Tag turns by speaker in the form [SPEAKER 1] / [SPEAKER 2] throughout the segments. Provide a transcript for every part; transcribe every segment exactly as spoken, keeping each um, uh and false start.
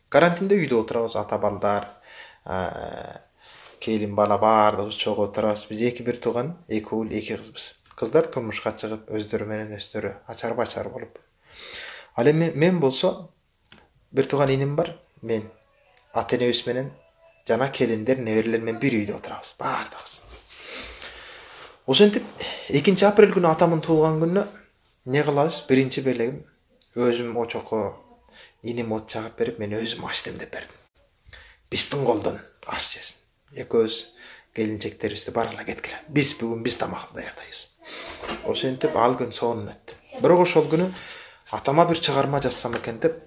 [SPEAKER 1] Карантинде үйдө отурабыз, ата балдар, келин бала баардыгыбыз чогуу отурабыз. Биз эки бир тууган, эки уул, эки кызбыз. Кыздар турмушка чыгып, өздөрү менен өздөрү ачар бачар болуп. Ал эми мен болсо бир тууган иним бар. Мен ата энебиз менен жана келиндер, неберелер менен бир үйдө отурабыз баардыгыбыз. Ошентип экинчи апрель күнү атамдын туулган күнүнө не кылабыз? Биринчи белегим өзүм очокко иним от чагып берип, мен өзүм аш демдеп бердим. Биздин колдон аш жесин. Экөөбүз келинчектерибизди баргыла кеткиле. Биз бүгүн биз тамак даярдайбыз. Ошентип ал күн сонун өттү. Бирок ошол күнү атама бир чыгарма жазсам экен деп,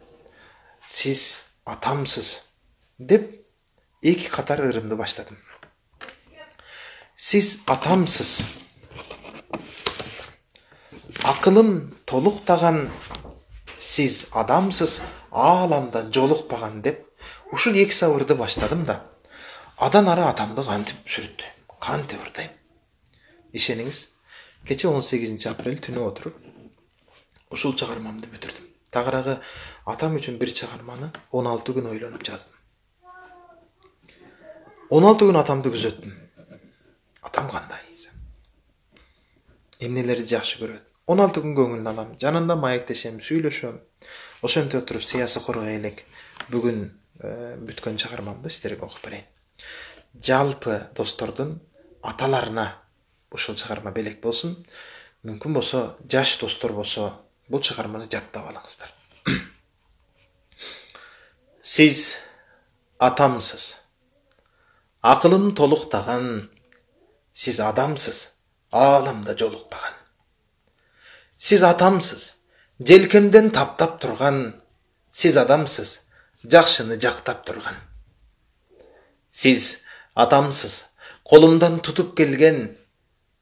[SPEAKER 1] сиз атамсыз деп эки катар ырымды баштадым. Сиз атамсыз. Акылым толуктаган, сиз адамсыз, ааламда жолукпаган деп ушул эки сабырды баштадым да, адан ары атамды кантип сүрүттүм, кантип ырдайм. Ишениңиз, кече он сегизинчи апрель түнү отуруп ушул чыгармамды бүтүрдүм. Тагыраагы атам үчүн бир чыгарманы он алты күн ойлонуп жаздым. он алты күн атамды күзөттүм. Атам кандай? Эмнелерди жакшы көрөт? он алты күн көңүлүн алам, жанында маектешем, сүйлөшөм. Ошентип отуруп сыясы коргой элек бүгүн бүткөн чыгармамды сиздерге окуп берейин. Жалпы достордун аталарына ушул чыгарма белек болсун. Мүмкүн болсо, жаш достор болсо, бул чыгарманы жаттап алыңыздар. Сиз атамсыз. Акылым толуктаган, сиз адамсыз, ааламда жолукпаган. Сиз атамсыз, желкемден таптап турган, сиз адамсыз, жакшыны жактап турган. Сиз атамсыз, колумдан тутуп келген,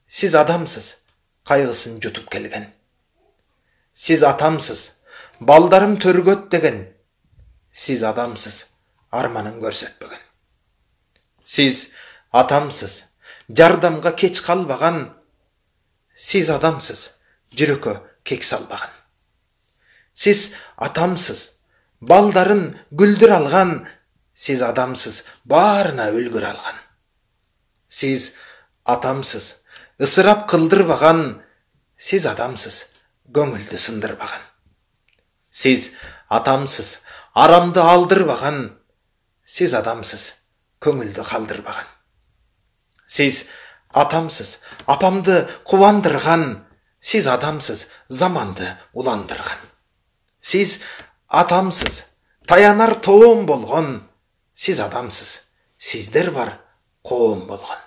[SPEAKER 1] сиз адамсыз, кайгысын жутуп келген. Сиз атамсыз, балдарым төргөт деген, сиз адамсыз, арманын көрсөтпөгөн. Сиз атамсыз, жардамга кеч калбаган, сиз адамсыз, жүрөккө кек салбаган. Сиз атамсыз, балдарын гүлдүр алган, сиз адамсыз, баарына үлгүр алган. Сиз атамсыз, ысырап кылдырбаган, сиз адамсыз, көңүлдү сындырбаган. Сиз атамсыз, арамды алдырбаган, сиз адамсыз, көңүлдү калдырбаган. Сиз атамсыз, апамды кубандырган, сиз адамсыз, заманды уландырган. Сиз атамсыз, таянар тоом болгон, сиз адамсыз, сиздер бар коом болгон.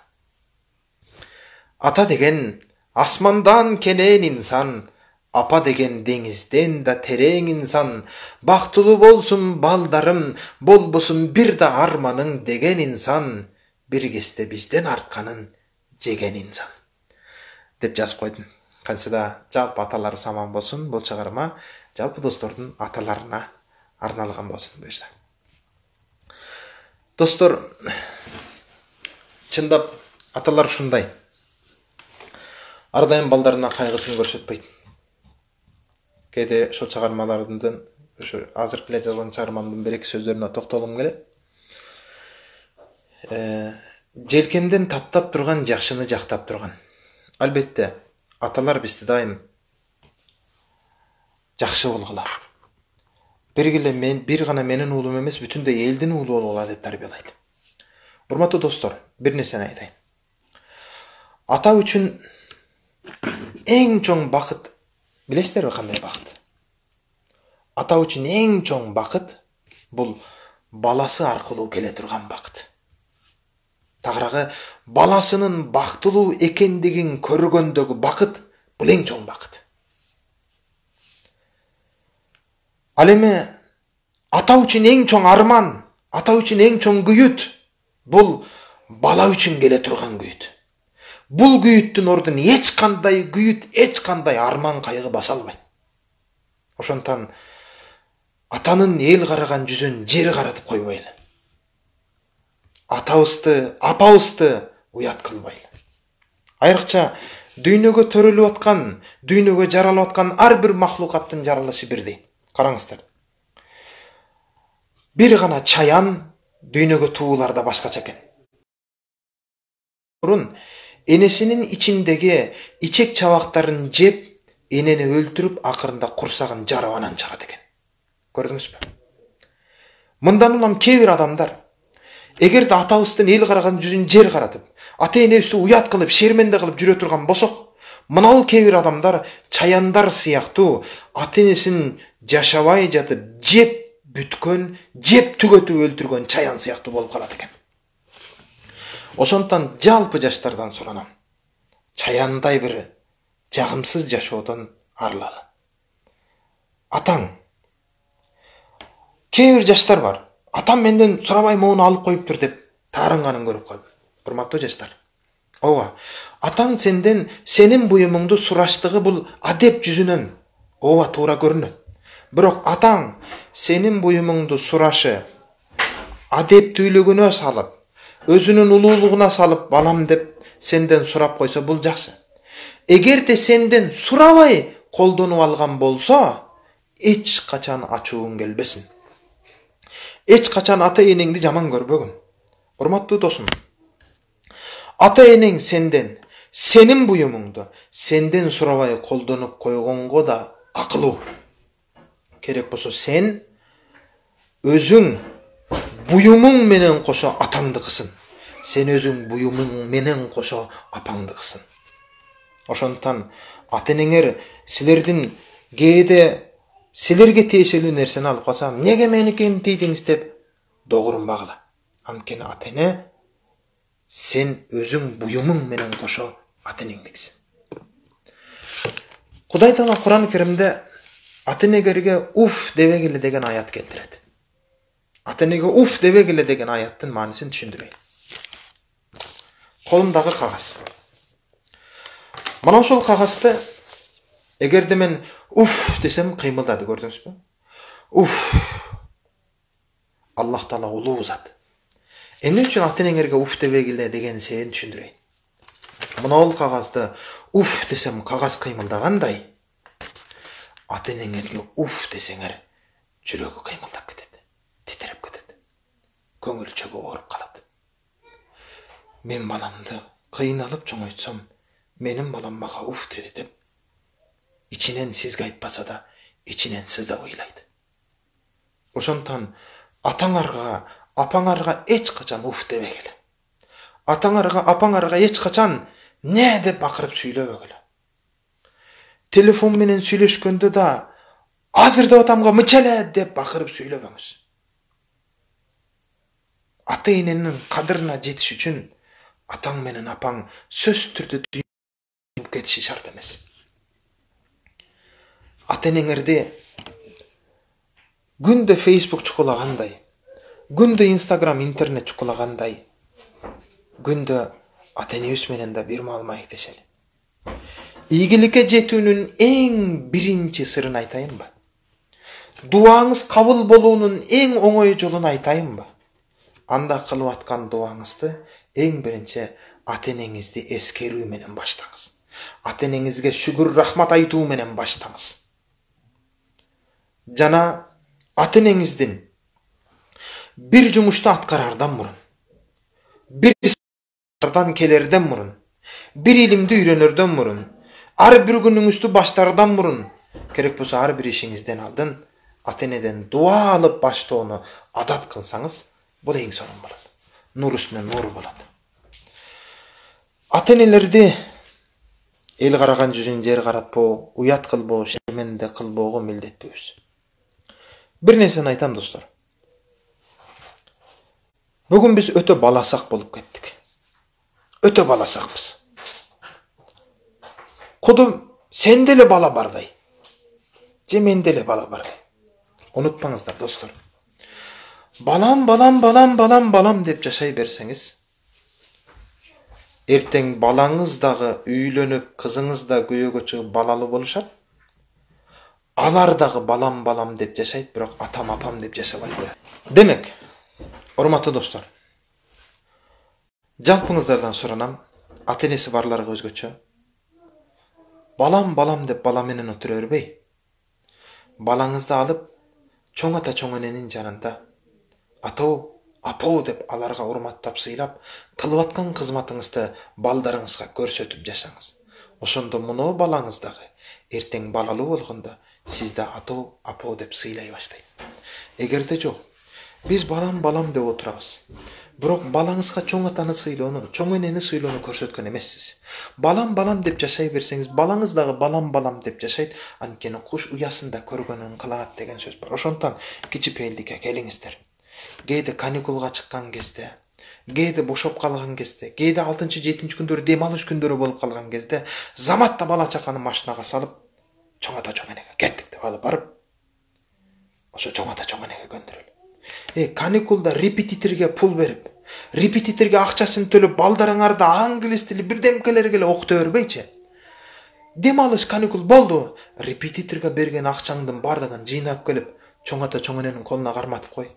[SPEAKER 1] Ата деген асмандан кенен инсан, апа деген деңизден да терең инсан, бактылуу болсун балдарым, болбосун бир да арманың деген инсан, бир кезде бизден артканын жеген инсан. Деп жазып койдум. Кантсе да жалпы аталар саман болсун, бул чыгарма жалпы достордун аталарына арналган болсун буюрса. Достор, чындап аталар ушундай. Ар дайым балдарына кайгысын көрсөтпөйт. Кээде ошол чыгармалардын, ошо азыркы эле жазган чыгармамдын бир эки сөздөрүнө токтолгум келет. Желкемден таптап турган, жакшыны жактап турган. Албетте, аталар бизди дайым жакшы болгула. Биргиле мен бир гана менин уулум эмес, бүтүндөй элдин уулу болгула деп тарбиялайт. Урматтуу достор, бир нерсени айтайын. Ата үчүн эң чоң бакыт, билесиздерби кандай бакыт? Ата үчүн эң чоң бакыт бул баласы аркылуу келе турган бакыт. Тагыраагы баласынын бактылуу экендигин көргөндөгү бакыт бул эң чоң бакыт. Ал эми ата үчүн эң чоң арман, ата үчүн эң чоң күйүт бул бала үчүн келе турган күйүт. Бул күйүттүн ордун эч кандай күйүт, эч кандай арман кайгы баса албайт. Ошондон атанын эл караган жүзүн жер каратып койбойлу. Атабызды, апабызды уят кылбайлы. Айрыкча дүйнөгө төрөлүп аткан, дүйнөгө жаралып аткан ар бир махлукаттын жаралышы бирдей. Караңыздар. бир гана чаян дүйнөгө тууларда башкача экен. Мурун энесинин ичиндеги ичек чабактарын жеп, энени өлтүрүп, акырында курсагын жарып анан чыгат экен. Көрдүңүзбү? Мындан улам кээ бир адамдар эгерде атабыздын эл караган жүзүн жер каратып, ата энебизди уят кылып, шерменде кылып жүрө турган болсок, мынау кээ бир адамдар чаяндар сыяктуу ата энесин жашабай жатып жеп бүткөн, жеп түгөтүп өлтүргөн чаян сыяктуу болуп калат экен. Ошондуктан жалпы жаштардан суранам. Чаяандай бир жагымсыз жашоодон арылалы. Атаң. Кээ бир жаштар бар. Атам менден сурабай моуну алып коюптур деп таарынганын көрүп калдым. Урматтуу жаштар. Ооба. Атаң сенден сенин буюмуңду сураштыгы бул адеп жүзүнөн ооба туура көрүнөт. Бирок атаң сенин буюмуңду сурашы адептүүлүгүнө салып, өзүнүн улуулугуна салып балам деп сенден сурап койсо бул жакшы. Эгерде сенден сурабай колдонуп алган болсо, эч качан ачууң келбесин. Эч качан ата энеңди жаман көрбөгүн. Урматтуу досум. Ата энең сенден сенин буюмуңду сенден сурабай колдонуп койгонго да акылуу. Керек болсо сен өзүң буюмуң менен кошо атаңдыкысын. Сен өзүң буюмуң менен кошо апаңдыкысын. Ошондуктан ата энеңер силердин кээде силерге тиешелүү нерсени алып калса, неге меникин тийдиңиз деп догурунбагыла. Анткени ата эне сен өзүң буюмуң менен кошо ата энеңдиксиң. Кудай Таала Куран Керимде ата энегерге уф дебегиле деген аят келтирет. Ата энеге уф дебегиле деген аяттын маанисин түшүндүрөйүн. Колумдагы кагаз. Мына ошол кагазды эгерде мен уф десем кыймылдады, көрдүңүзбү? Уф. Аллах Таала улуу зат. Эмне үчүн ата энеңерге уф дебегиле деген сен түшүндүрөйүн. Мына ол кагазды уф десем кагаз кыймылдагандай, ата энеңерге уф десеңер жүрөгү кыймылдап кетет, титиреп кетет. Көңүл чөгү ооруп калат. Мен баламды кыйналып чоңойтсом, менин балам мага уф деди деп, ичинен сизге айтпаса да, ичинен сыздап ыйлайт. Ошондуктан атаңарга, апаңарга эч качан уф дебегиле. Атаңарга, апаңарга эч качан не деп акырып сүйлөбөгүлө. Телефон менен сүйлөшкөндө да азыр деп атамга мычеле деп акырып сүйлөбөңүз. Ата эненин кадырына жетиш үчүн атаң менен апаң сөзсүз түрдө дүйнөдөн кетиши шарт эмес. Ата энеңерди күндө Facebook чукулагандай, күндө Instagram, интернет чукулагандай, күндө ата энебиз менен да бир маал маектешели. Ийгиликке жетүүнүн эң биринчи сырын айтайынбы? Дуаңыз кабыл болуунун эң оңой жолун айтайынбы? Анда кылып аткан дуаңызды эң биринчи ата энеңизди эскерүү менен баштаңыз. Ата энеңизге шүгүр рахмат айтуу менен баштаңыз. Жана ата энеңиздин бир жумушту аткарардан мурун, бир сардан келерден мурун, бир илимди үйрөнөрдөн мурун, ар бир күнүңүздү баштардан мурун, керек болсо ар бир ишиңизден алдын ата энеден дуа алып баштоону адат кылсаңыз, бул эң сонун болот. Нур үстүнө нур болот. Ата энелерди эл караган жүзүн жер каратпоо, уят кылбоо, шерменде кылбоого милдеттүүбүз. Бир нерсени айтам достор. Бүгүн биз өтө баласак болуп кеттик. Өтө баласакпыз. Кудум сен деле бала бардай. Же мен деле бала бардай. Унутпаңыздар достор. Балам, балам, балам, балам, балам деп жашай берсеңиз, эртең балаңыз дагы үйлөнүп, кызыңыз да күйөөгө чыгып балалуу болушат. Алар дагы балам, балам деп жашайт, бирок атам, апам деп жашабай коет. Демек, урматтуу достор, жалпыңыздардан суранам, ата энеси барларга өзгөчө. Балам, балам деп бала менен отура бербей, балаңызды алып, чоң ата, чоң эненин жанында атоо, апоо деп аларга урматтап сыйлап, кылып аткан кызматыңызды балдарыңызга көрсөтүп жашаңыз. Ошондо муну балаңыз дагы эртең балалуу болгондо сизди атоо, апоо деп сыйлай баштайт. Эгерде жок, биз балам балам деп отурабыз. Бирок балаңызга чоң атаны сыйлоону, чоң энени сыйлоону көрсөткөн эмессиз. Балам балам деп жашай берсеңиз, балаңыз дагы балам балам деп жашайт. Анткени куш уясында көргөнүн кылат деген сөз бар. Ошондон кичипейилдикке келиңиздер. Кээде каникулга чыккан кезде, кээде бошоп калган кезде, кээде алтынчы жетинчи күндөрү дем алыш күндөрү болуп калган кезде заматта бала чаканы машинага салып, чоң ата чоң энеге кеттик деп алып барып, ошо чоң ата чоң энеге көндүрөлү. Э, каникулда репетиторге пул берип, репетиторге акчасын төлөп, балдарыңарды англис тили бирдемкелерге эле окута бербейчи. Дем алыш каникул болду, репетиторго берген акчаңдын бардыгын жыйнап келип, чоң ата чоң эненин колуна карматып кой.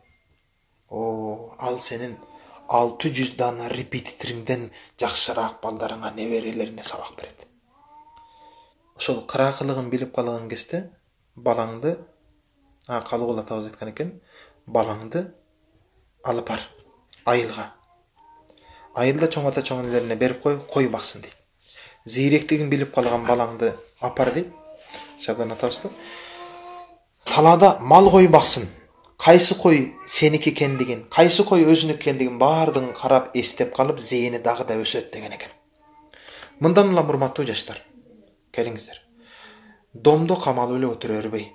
[SPEAKER 1] О, ал сенин алты жүз дана репетиториңден жакшыраак балдарыңа, неберелерине сабак берет. Ошол кыраакылыгын билип калган кезде балаңды, а калыгул атабыз айткан экен, балаңды алып бар айылга. Айылда чоң ата чоң энелерине берип кой, кой баксын дейт. Зийректигин билип калган балаңды апар дейт. Шабан атабызды. Талаада мал кой баксын. Кайсы кой сеники экендигин, кайсы кой өзүнүкү экендигин баардыгын карап, эстеп калып, зээни дагы да өсөт деген экен. Мындан улам урматтуу жаштар, келиңиздер. Домдо камалып эле отура бербей,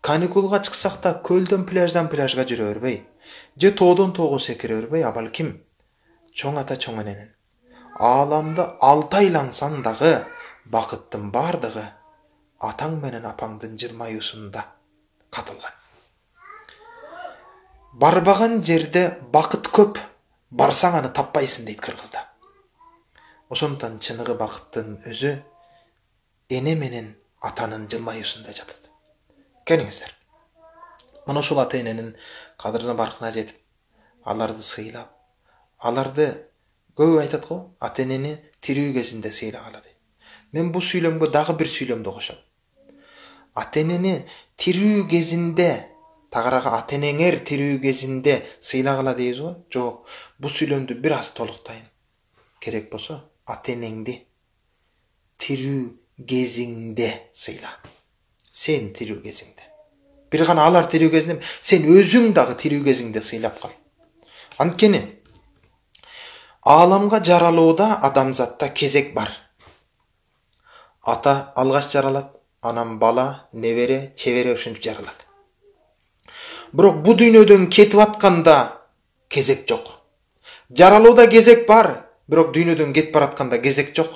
[SPEAKER 1] каникулга чыксак да көлдөн пляждан пляжга жүрө бербей, же тоодон тоого секире бербей, а балким чоң ата чоң эненин ааламды алты айлансаң дагы бакыттын бардыгы атаң менен апаңдын жылмаюусунда катылган. Барбаган жерде бакыт көп, барсаң аны таппайсың дейт кыргызда. Ошондон чыныгы бакыттын өзү эне менен атанын жылмаюусунда жатат. Келиңиздер. Мына ушул ата эненин кадырына баркына жетип, аларды сыйлап, аларды көп айтат го, ата энени тирүү кезинде сыйлагала дейт. Мен бул сүйлөмгө дагы бир сүйлөмдү кошом. Ата энени тирүү кезинде, тагыраагы ата энеңер тирүү кезинде сыйлагала дейбиз го? Жок, бул сүйлөмдү бир аз толуктайын. Керек болсо, ата энеңди тирүү кезиңде сыйла. Сен тирүү кезиңде. Бир гана алар тирүү кезинде, сен өзүң дагы тирүү кезиңде сыйлап кал. Анткени ааламга жаралууда адамзатта кезек бар. Ата алгаш жаралат, анан бала, небере, чебере ушинтип жаралат. Бирок бу дүйнөдөн кетип атканда кезек жок. Жаралууда кезек бар, бирок дүйнөдөн кетип баратканда кезек жок.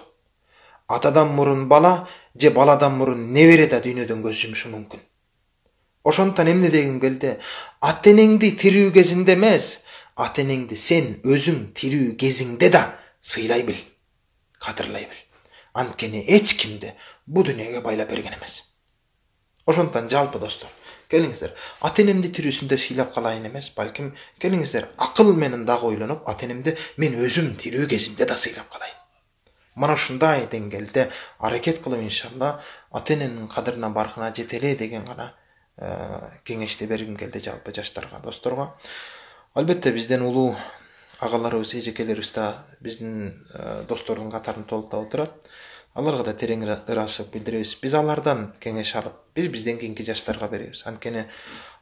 [SPEAKER 1] Атадан мурун бала, же баладан мурун небере да дүйнөдөн көз жумушу мүмкүн. Ошондон эмне дегим келди? Ата энеңди тирүү кезинде эмес, ата энеңди сен өзүң тирүү кезиңде да сыйлай бил, кадырлай бил. Анткени эч кимди бу дүйнөгө байлап берген эмес. Ошондон жалпы достор, келиңиздер, ата энемди тирүүсүндө сыйлап калайын эмес, балким келиңиздер, акыл менен дагы ойлонуп, ата энемди мен өзүм тирүү кезимде да сыйлап калайын. Мана ушундай деңгээлде аракет кылып иншалла ата эненин кадырына баркына жетели деген гана кеңешти бергим келди жалпы жаштарга, досторго. Албетте бизден улуу агаларыбыз, эжекелерибиз да биздин достордун катарын толуктап отурат. Аларга да терең ыраазычылык билдиребиз. Биз алардан кеңеш алып, биз бизден кийинки жаштарга беребиз. Анткени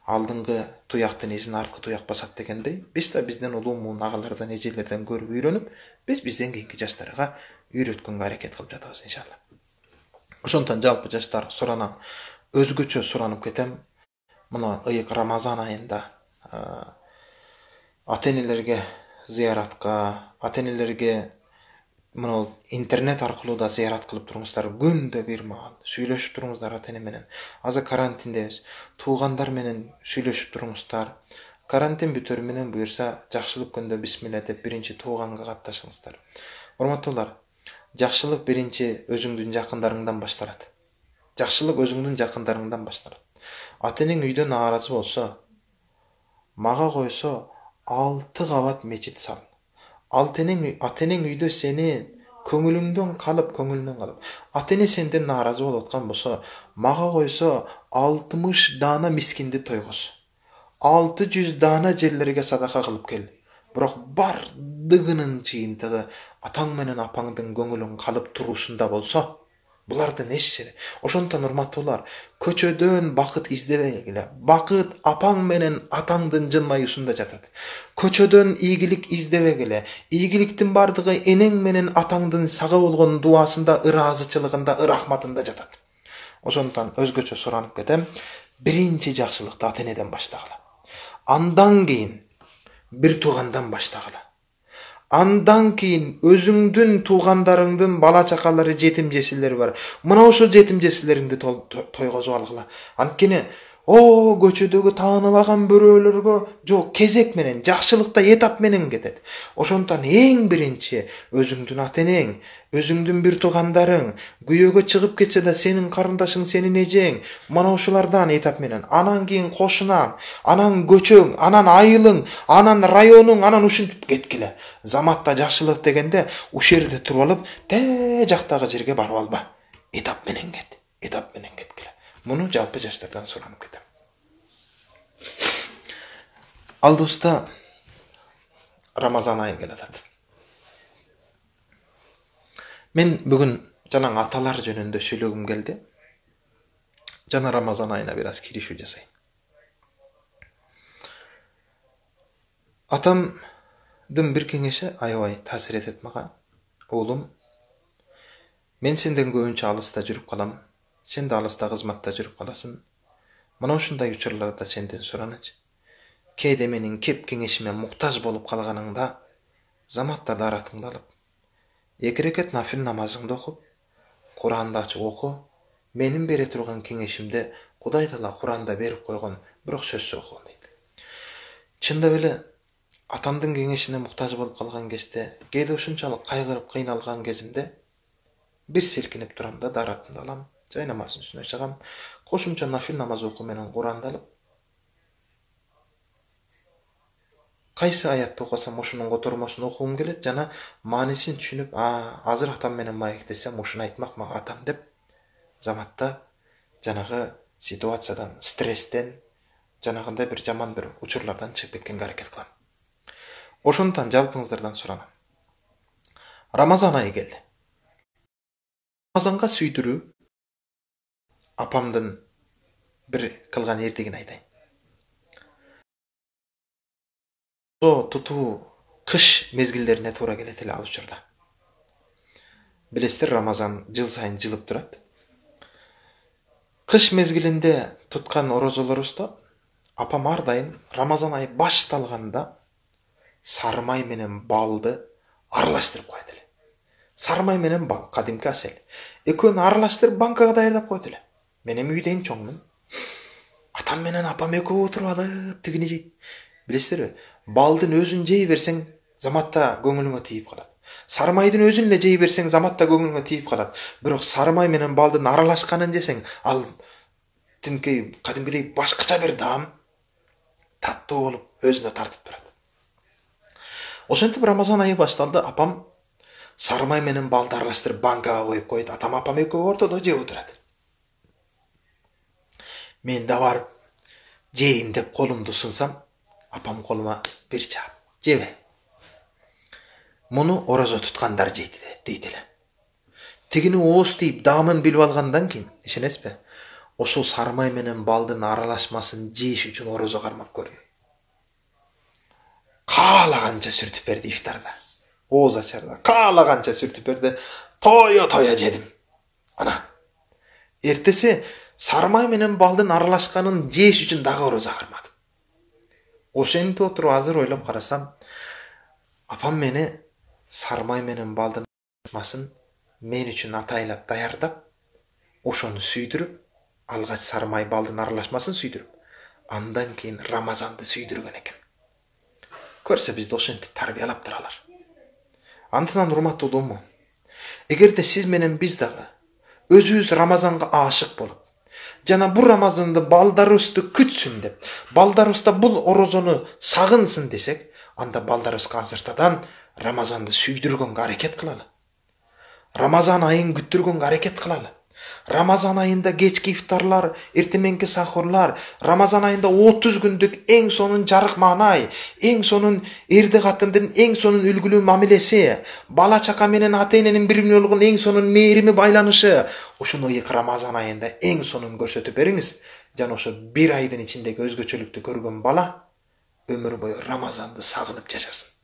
[SPEAKER 1] алдыңкы туяктын изин арткы туяк басат дегендей, биз да бизден улуумун агалардан, эжелерден көрүп үйрөнүп, биз бизден кийинки жаштарга үйрөткөнгө аракет кылып жатабыз иншалла. Ошондон жалпы жаштар суранам, өзгөчө суранып кетем. Мына ыйык Рамазан айында ата энелерге зыяратка, ата энелерге мына интернет аркылуу да зыярат кылып туруңуздар, күндө бир маал сүйлөшүп туруңуздар ата эне менен. Азыр карантиндебиз, туугандар менен сүйлөшүп туруңуздар. Карантин бүтөр менен буюрса, жакшылык күндө бисмилла деп биринчи тууганга катташыңыздар. Урматтуулар, жакшылык биринчи өзүңдүн жакындарыңдан башталат. Жакшылык өзүңдүн жакындарыңдан башталат. Ата энең үйдө нааразы болсо, мага койсо алты кабат мечит сал. Ата энең ата энең үйдө сени көңүлүңдөн калып, көңүлүнөн калып, ата эне сенден нааразы болуп аткан болсо, мага койсо алтымыш даана мискинди тойгоз. алты жүз даана жерлерге садака кылып кел. Бирок бардыгынын жыйынтыгы атаң менен апаңдын көңүлүн калып туруусунда болсо, булардын эч жери. Ошондон урматтуулар, көчөдөн бакыт издебегиле. Бакыт апаң менен атаңдын жылмаюусунда жатат. Көчөдөн ийгилик издебегиле. Ийгиликтин бардыгы энең менен атаңдын сага болгон дуасында, ыраазычылыгында, ырахматында жатат. Ошондон өзгөчө суранып кетем. Биринчи жакшылыкты ата энеден баштагыла. Андан кийин бир туугандан баштагыла. Андан кийин өзүңдүн туугандарыңдын бала чакалары, жетим жесирлери бар. Мына ошол жетим жесирлериңди тойгозуп алгыла. Анткени о көчөдөгү тааныбаган бирөөлөргө жок, кезек менен, жакшылыкта этап менен кетет. Ошондон эң биринчи өзүңдүн ата энең, өзүңдүн бир туугандарың күйөөгө чыгып кетсе да сенин карындашың, сенин эжең, мана ошолардан этап менен, анан кийин кошунаң, анан көчөң, анан айылың, анан районуң, анан ушинтип кеткиле. Заматта жакшылык дегенде ушул жерде туруп алып, те жактагы жерге барып алба. Этап менен кет, этап менен кеткиле. Муну жалпы жаштардан суранып кетем. Алдыбызда Рамазан айы келатат. Мен бүгүн жана аталар жөнүндө сүйлөгүм келди. Жана Рамазан айына бир аз киришүү жасайм. Атамдын бир кеңеши аябай таасир этет мага. Оолум, мен сенден көбүнчө алыста жүрүп калам. Сен да алыста кызматта жүрүп каласың. Мына ушундай учурларда сенден суранычы. Кээде менин кеп кеңешиме муктаж болуп калганыңда, заматта даратыңды алып, эки рекет нафил намазыңды окуп, Куранды ачып оку. Менин бере турган кеңешимде Кудай Таала Куранда берип койгон, бирок сөзсүз оку дейт. Чындап эле атамдын кеңешине муктаж болуп калган кезде, кээде ушунчалык кайгырып кыйналган кезимде бир селкинип турам да даратымды алам. Жай намаздын үстүнө чыгам. Кошумча нафил намаз окуу менен Куранды алып, кайсы аятты окусам ошонун котормосун окугум келет жана маанисин түшүнүп, а азыр атам менен маектесем ушуну айтмак мага атам деп, заматта жанагы ситуациядан, стресстен, жанагындай бир жаман бир учурлардан чыгып кеткенге аракет кылам. Ошондон жалпыңыздардан суранам. Рамазан айы келди. Рамазанга сүйдүрүү апамдын бир кылган эрдигин айтайын. Со тутуу кыш мезгилдерине туура келет эле ал учурда. Билесиздер, Рамазан жыл сайын жылып турат. Кыш мезгилинде туткан орозолорубузда апам ар дайым Рамазан айы башталганда сары май менен балды аралаштырып коет эле. Сары май менен бал, кадимки асел. Экөөнү аралаштырып банкага даярдап коет эле. Мен эми үйдө эң чоңмун. Атам менен апам экөө отуруп алып тигини жейт. Билесиздерби? Балдын өзүн жей берсең, заматта көңүлүңө тийип калат. Сары майдын өзүн эле жей берсең, заматта көңүлүңө тийип калат. Бирок сары май менен балдын аралашканын жесең, ал тимкей кадимкидей башкача бир даам, таттуу болуп, өзүнө тартып турат. Ошентип Рамазан айы башталды, апам сары май менен балды аралаштырып банкага коюп коет. Атам апам экөө ортодо жеп отурат. Мен да барып жейин деп колумду сунсам, апам колума бир чаап, жебе. Муну орозо туткандар жейт дейт эле. Тигини ооз тийип даамын билип алгандан кийин, ишенесизби? Ошол сары май менен балдын аралашмасын жеш үчүн орозо кармап көрдүм. Каалаганча сүртүп берди ифтарда. Ооз ачарда каалаганча сүртүп берди. Тоя-тоя жедим. Ана. Эртеси сары май менен балдын аралашканын жеш үчүн дагы орозо кармадым. Ошентип отуруп азыр ойлоп карасам, апам мени сары май менен балдын аралашмасын мен үчүн атайлап даярдап, ошону сүйдүрүп, алгач сары май балдын аралашмасын сүйдүрүп, андан кийин Рамазанды сүйдүргөн экен. Көрсө бизди ошентип тарбиялап туралар. Антынан урматтуулууму, эгерде сиз менен биз дагы өзүбүз Рамазанга аашык болуп, жана бул Рамазанды балдарыбызды күтсүн деп, балдарыбызда бул орозону сагынсын десек, анда балдарыбызга азыртадан Рамазанды сүйдүргөнгө аракет кылалы. Рамазан айын күттүргөнгө аракет кылалы. Рамазан айында кечки ифтарлар, эртеменки сахурлар, Рамазан айында отуз күндүк эң сонун жарык маанай, эң сонун эрди катындын эң сонун үлгүлүү мамилеси, бала чака менен ата эненин бири-бирине болгон эң сонун мээрими байланышы, ушуну Рамазан айында эң сонун көрсөтүп бериңиз. Жана ошо бир айдын ичиндеги өзгөчөлүктү көргөн бала өмүр бою Рамазанды сагынып жашасын.